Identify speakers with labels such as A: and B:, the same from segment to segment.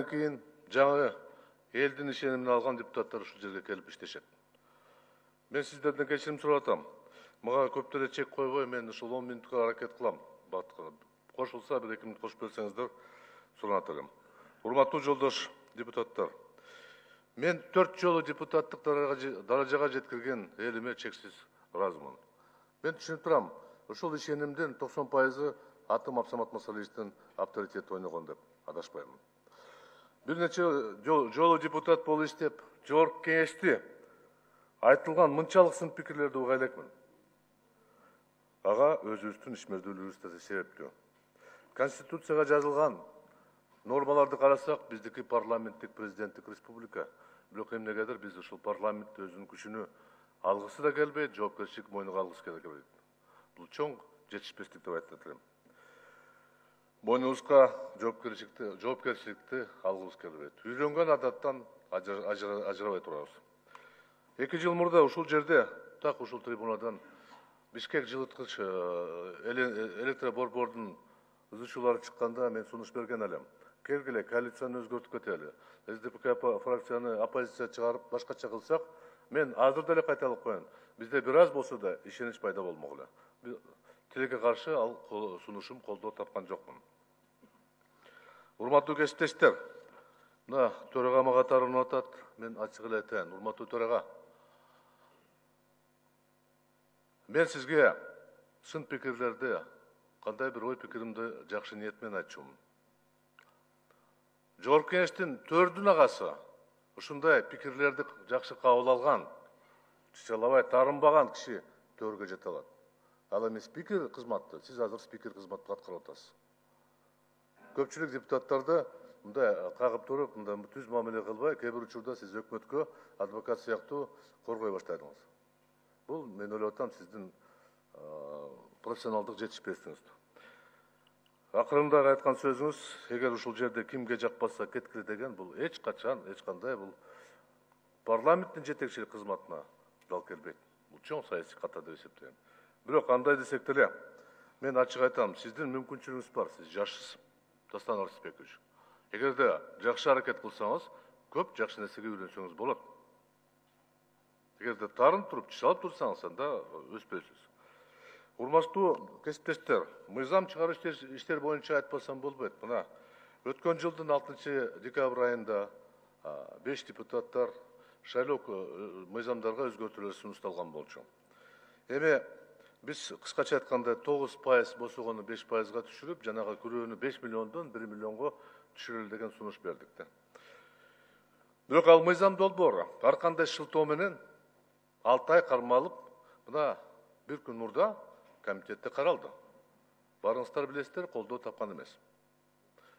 A: кийин жаңы элдин ишенимин алган депутаттар ушул жерге келип иштешет. Мен сиздерден кечирим сурап атам. Мага көп деле чек койбой, мен ушул 10 минутка аракет кылам. Кошулса бир 2 минут кошуп берсеңиздер суранат элем. Урматтуу жолдош депутаттар, мен 4 жолу депутаттык даражага жеткирген элиме чексиз ыраазымын. Мен түшүнүп турам, ушул ишенимдин 90% Атым Абсамат Масалиевичтин авторитети ойногон деп адашпаймын. Бир нече жолу депутат болуп иштеп, жогорку кеңешти айтылган мынчалык сын пикирлерди уга элекмин. Ага өзүбүздүн ишмердүүлүгүбүз да себептүү. Конституцияга жазылган нормаларды карасак, биздики парламенттик президенттик республика. Бирок эмнегедир биз ушул парламент өзүнүн күчүнө алгысы да келбейт, жоопкерчилик мойнуга алгысы келбейт. Бул чоң жетишпестик деп айтат элем. Мойнубузга жоопкерчиликти алгыбыз келбейт. Үйрөнгөн адаттан ажырабай турабыз. 2 жыл мурда ушул жерде, так ушул трибунадан Бишкек жылыткыч электроборбордун үзүүчүлөрү чыкканда мен сунуш берген элем. Келгиле, коалицияны өзгөртүп кетели. СДПК фракцияны оппозиция чыгарып башкача кылсак, мен азыр деле кайталап коеюн. Бизде бир аз болсо да ишенич пайда болмогула. Тилекке каршы ал сунушум колдоо тапкан жокмун. Урматтуу кесиптештер, мына төрага мага тарынып атат. Мен ачык эле айтайын, урматтуу төрага. Мен сизге сын пикирлерди, кандай бир ой пикиримди жакшы ниет менен айтчумун. Жогорку кеңештин 4 агасы ушундай пикирлерди жакшы кабыл алган, чычалабай тарынбаган киши төргө жете алат. Ал эми спикер кызматты, сиз азыр спикер кызматты аткарып атасыз. Көпчүлүк депутаттарды мындай кагып туруп, мындай түз мамиле кылбай, кээ бир учурда сиз өкмөткө адвокат сыяктуу коргой баштадыңыз. Бул мен ойлоп атам сиздин профессионалдык жетишпестигиңиз. Акырында айткан сөзүңүз, эгер ушул жерде кимге жакпаса кеткиле деген, бул эч кандай бул парламенттин жетекчилик кызматына дал келбейт. Бул чоң саясий ката деп эсептейм. Бирок андай десек деле, мен ачык айтам, сиздин мүмкүнчүлүгүңүз бар, сиз жашсыз, Дастан Арсызбекович. Эгерде жакшы аракет кылсаңыз, көп жакшы нерсеге үйрөнсөңүз болот. Эгерде тарын туруп, чычалып турсаңыз, анда өспөйсүз. Урматтуу кесиптештер, мыйзам чыгаруу иштер боюнча айтпасам болбойт. Мына өткөн жылдын 6 декабрь айында 5 депутаттар шайлоо мыйзамдарга өзгөртүүлөр сунушталган болчу. Эми биз кыскача айтканда 9% босогону 5%га түшүрүп, жанагы күрөөнү 5 миллиондон 1 миллионго түшүрөлү деген сунуш бердик да. Бирок ал мыйзам долбоору ар кандай шылтоо менен 6 ай кармалып, мына бир күн мурда комитетте каралды. Барыңыздар билесиздер, колдоо тапкан эмес.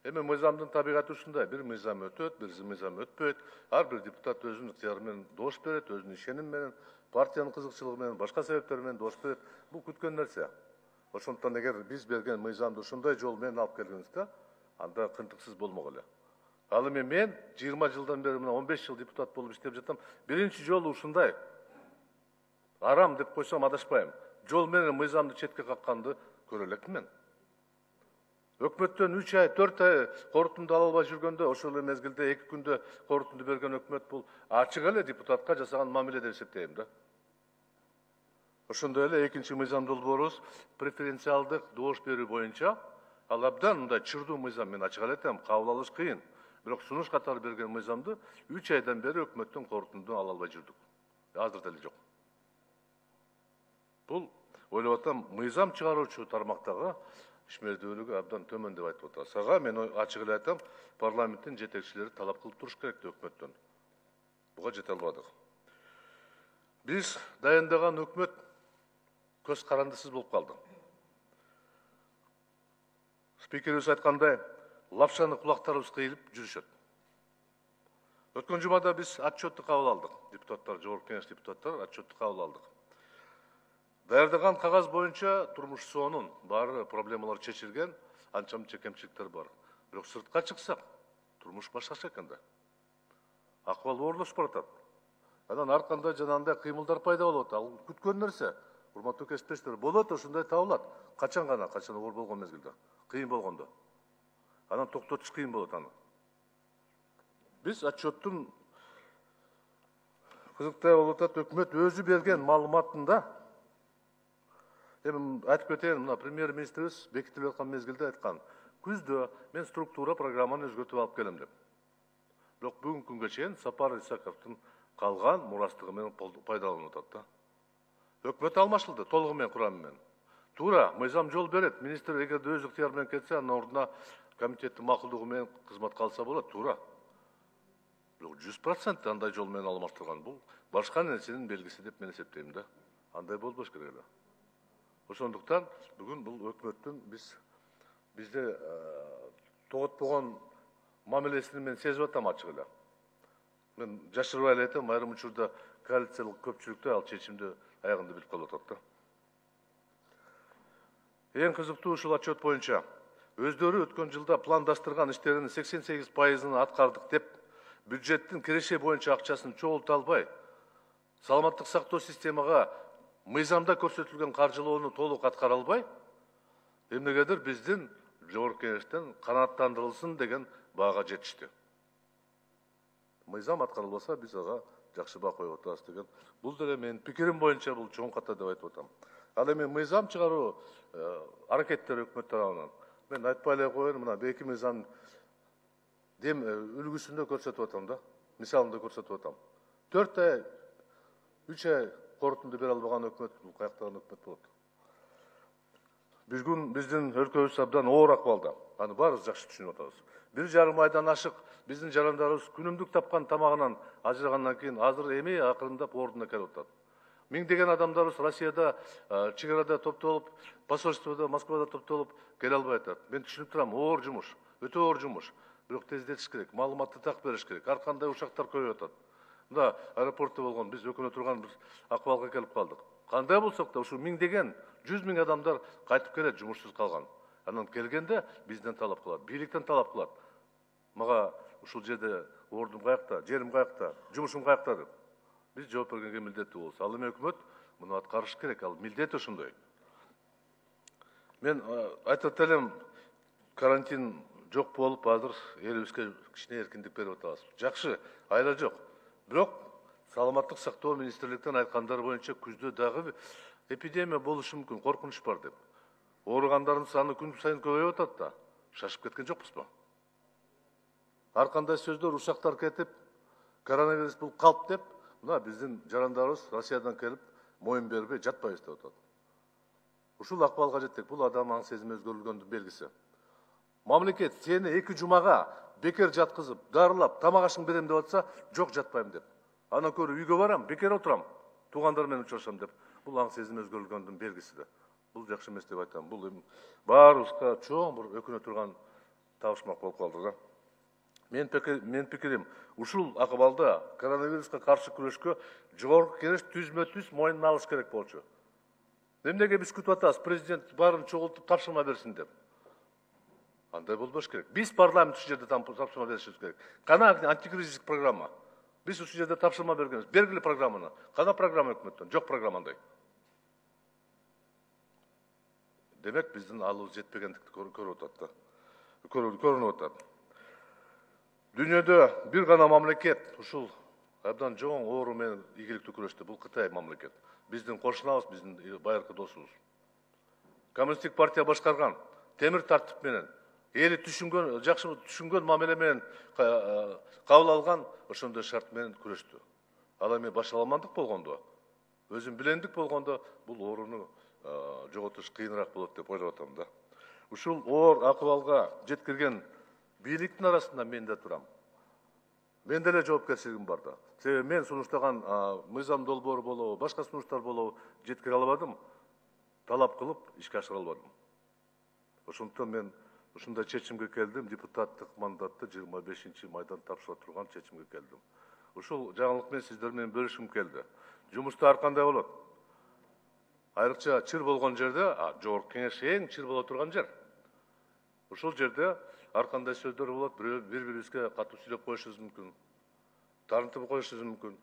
A: Эми мыйзамдын табигаты ушундай, бир мыйзам өтөт, бир мыйзам өтпөйт. Ар бир депутат өзүнүн ыктыяры менен добуш берет, өзүнүн ишеними менен, партиянын кызыкчылыгы менен, башка себептер менен добуш берет. Бул күткөн нерсе. Ошондуктан эгер биз берген мыйзамды ушундай жол менен алып келгенибизде, анда кынтыксыз болмок эле. Ал эми мен 20 жылдан бери, 15 жыл депутат болуп иштеп жатам. Биринчи жолу ушундай арам деп койсом адашпайм. Жол менен мыйзамды четке какканды көрө элекмин мен. Өкмөттөн 3 ай, 4 ай корутунду ала албай жүргөндө, ошол эле мезгилде 2 күндө корутунду берген өкмөт бул ачык эле депутатка жасаган мамиле деп эсептейм да. Ошондой эле экинчи мыйзам долбоорубуз преференциалдык добуш берүү боюнча ал абдан мындай чырдуу мыйзам, мен ачык эле айтам, кабыл алыш кыйын. Бирок сунуш катары берген мыйзамды 3 айдан бери өкмөттөн корутунду ала албай жүрдүк. Азыр деле жок. Бул ойлоп атам, мыйзам чыгаруучу тармактагы ишмердүүлүгү абдан төмөн деп айтып атат. Сага мен ачык эле айтам, парламенттин жетекчилери талап кылып туруш керек өкмөттөн. Буга жете албадык. Биз дайындаган өкмөт көз карандысыз болуп калды. Спикерибиз айткандай, лапшаны кулактарыбыз кыйылып жүрүшөт. Өткөн жумада биз отчетту кабыл алдык. Депутаттар, жогорку кеңеш депутаттары отчетту кабыл алдык. Даярдаган кагаз боюнча турмуш соонун баары проблемалар чечилген, анча-мынча кемчиликтер бар. Бирок сыртка чыксак, турмуш башкача экен да. Акыбал оорлошуп баратат. Анан ар кандай жанагындай кыймылдар пайда болот. Ал күткөн нерсе. Урматтуу кесиптештер, болот, ошондой табылат. Качан оор болгон мезгилде, кыйын болгондо. Анан токтотуш кыйын болот аны. Биз отчеттун кызыктай болуп атат, өкмөт өзү берген маалыматында эми айтып кетейин, мына премьер-министрибиз бекитилип аткан мезгилде айткан, күздө мен структура программаны өзгөртүп алып келем деп. Бирок бүгүнкү күнгө чейин Сапар Исаковдун калган мурастыгы менен пайдаланып атат да. Өкмөт алмашылды толугу менен, курамы менен. Туура, мыйзам жол берет. Министр эгерде өз ыктыяры менен кетсе, анын ордуна комитеттин макулдугу менен кызматка алса болот, туура. Бирок 100% андай жол менен алмаштырган бул башка нерсенин белгиси деп мен эсептейм да. Андай болбош керек эле. Ошондуктан бүгүн бул өкмөттүн бизде тоготпогон мамилесин мен сезип атам ачык эле. Мен жашырбай эле айтам, айрым учурда коалициялык көпчүлүктө ал чечимди аягында билип калып атат да. Эң кызыктуу ушул отчет боюнча өздөрү өткөн жылда пландаштырган иштеринин 88%-ын аткардык деп, бюджеттин киреше боюнча акчасын чогулта албай, саламаттык сактоо системага мыйзамда көрсөтүлгөн каржылоону толук аткара албай, эмнегедир биздин Жогорку Кеңештен канааттандырылсын деген баага жетишти. Мыйзам аткарылбаса, биз ага жакшы баа коюп атабыз деген. Бул деле менин пикирим боюнча бул чоң ката деп айтып атам. Ал эми мыйзам чыгаруу аракеттери өкмөт тарабынан. Мен айтпай эле коеюн, мына 2 мыйзам дем үлгүсүндө көрсөтүп атам да, мисалында көрсөтүп атам. 4 ай, 3 ай корутунду бере албаган өкмөт бул каяктаган өкмөт болот. Бүгүн биздин өлкөбүз абдан оор акыбалда. Аны баарыбыз жакшы түшүнүп атабыз. 1,5 айдан ашык биздин жарандарыбыз күнүмдүк тапкан тамагынан ажырагандан кийин азыр эми акырындап ордуна келип атат. Миңдеген адамдарыбыз Россияда чек-арада топтолуп, посольствода, Москвада топтолуп келе албай атат. Мен түшүнүп турам, оор жумуш, өтө оор жумуш. Бирок тездетиш керек, маалыматты так бериш керек. Ар кандай учактар көбөйүп атат. Мында аэропортто болгон, биз өкүнө турган бир акыбалга келип калдык. Кандай болсок да, ушул миңдеген, 100 000 адамдар кайтып келет, жумушсуз калган. Анан келгенде бизден талап кылат, бийликтен талап кылат. Мага ушул жерде ордум каякта, жерим каякта, жумушум каякта деп. Биз жооп бергенге милдеттүү болобуз. Ал эми өкмөт муну аткарыш керек, ал милдети ошондой. Мен айтып элем, карантин жок болуп, азыр элибизге кичине эркиндик берип атабыз. Жакшы, айла жок. Бирок саламаттык сактоо министрликтен айткандары боюнча күздө дагы эпидемия болушу мүмкүн, коркунуч бар деп. Ооругандардын саны күн сайын көбөйүп атат да. Шашып кеткен жокпузбу? Ар кандай сөздөр, ушактар кетип, коронавирус бул калп деп, мына биздин жарандарыбыз Россиядан келип, моюн бербей жатпайбыз деп атат. Ушул акыбалга жеттик. Бул адам аң сезими өзгөрүлгөндүн белгиси. Мамлекет сени 2 жумага бекер жаткызып, дарылап, тамак ашың берем деп атса, жок жатпайм деп. Анан көрү үйгө барам, бекер отурам, туугандар менен учурашам деп. Бул аң сезими өзгөрүлгөндүн белгиси да. Бул жакшы эмес деп айтам. Бул баарыбызга чоң бир өкүнө турган табышмак болуп калды да. Мен пикирим, ушул акыбалда коронавируска каршы күрөшкө Жогорку Кеңеш түзмө-түз мойнуна алыш керек болчу. Эмнеге биз күтүп атабыз, президент баарын чогултуп тапшырма берсин деп. Андай болбош керек. Биз парламент ушул жерде тапшырма беришибиз керек. Кана антикризистик программа. Биз ушул жерде тапшырма бергенбиз. Бергиле программаны. Кана программа өкмөттөн? Жок программандай. Демек биздин алыбыз жетпегендикти көрүп атат да. Көрүнүп атат. Дүйнөдө бир гана мамлекет ушул абдан жоң оору менен ийгиликтүү күрөштү. Бул Кытай мамлекет. Биздин кошунабыз, биздин байыркы досубуз. Коммунисттик партия башкарган темир тартип менен, эли түшүнгөн, жакшы түшүнгөн мамиле менен кабыл алган ошондой шарт менен күрөштү. Ал эми башаламандык болгондо, өзүн билендик болгондо бул ооруну жоготуш кыйыныраак болот деп ойлоп атам да. Ушул оор акыбалга жеткирген бийликтин арасында мен да турам. Мен деле жоопкерчилигим бар да. Себеби мен сунуштаган мыйзам долбоору болобу, башка сунуштар болобу жеткире албадым, талап кылып ишке ашыра албадым. Ошондуктан мен ушундай чечимге келдим, депутаттык мандатты 25-майдан тапшыра турган чечимге келдим. Ушул жаңылык мен сиздер менен бөлүшкүм келди. Жумушта ар кандай болот? Айрыкча чыр болгон жерде, Жогорку Кеңеш эң чыр боло турган жер. Ушул жерде ар кандай сөздөр болот, бири-бирибизге катуу сүйлөп коюшубуз мүмкүн, тарынтып коюшубуз мүмкүн.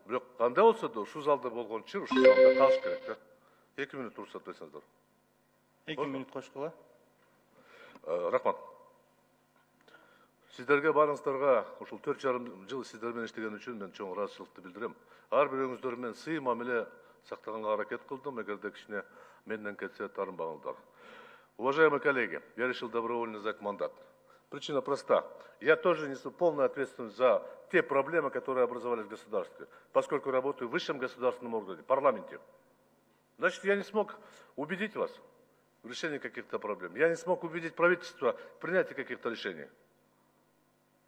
A: Бирок кандай болсо да ушул залда болгон чыр ушул залда калыш керек да. 2 мүнөт уруксат берсеңиздер. 2
B: мүнөт кошкула.
A: Рахмат. Сиздерге баарыңыздарга ушул 4,5 жыл сиздер менен иштеген үчүн мен чоң ыраазычылыкты билдирем. Ар бирөөңүздөр менен сый мамиле сактаганга аракет кылдым. Эгерде кичине менден кетсе таарынбаңыздар. Уважаемые коллеги, я решил добровольно сдать мандат. Причина проста. Я тоже несу полную ответственность за те проблемы, которые образовались в государстве, поскольку работаю в высшем государственном органе, парламенте. Значит, я не смог убедить вас в решении каких-то проблем. Я не смог убедить правительство в принятии каких-то решений.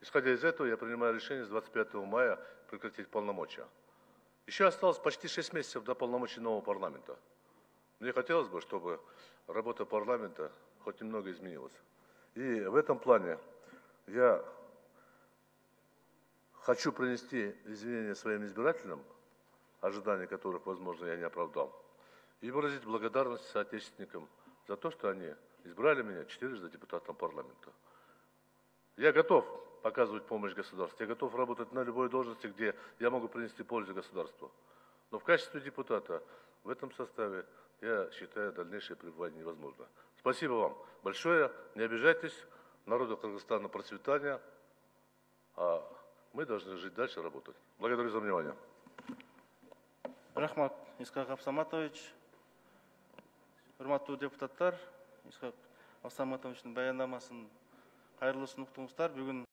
A: Исходя из этого, я принимаю решение с 25 мая прекратить полномочия. Еще осталось почти 6 месяцев до полномочий нового парламента. Мне хотелось бы, чтобы работа парламента хоть немного изменилась. И в этом плане я хочу принести извинения своим избирателям, ожидания которых, возможно, я не оправдал, и выразить благодарность соотечественникам за то, что они избрали меня 4-ды депутатом парламента. Я готов показывать помощь государству, я готов работать на любой должности, где я могу принести пользу государству. Но в качестве депутата в этом составе я считаю дальнейшее пребывание невозможно. Спасибо вам большое, не обижайтесь, народу Кыргызстана процветания, а мы должны жить дальше, работать. Благодарю за внимание.
B: Рахмат, Исхак Абсаматович. Урматтуу депутаттар, Исхак Абсаматовичтин баяндамасын кайрылуу сунуктуңуздар. Бүгүн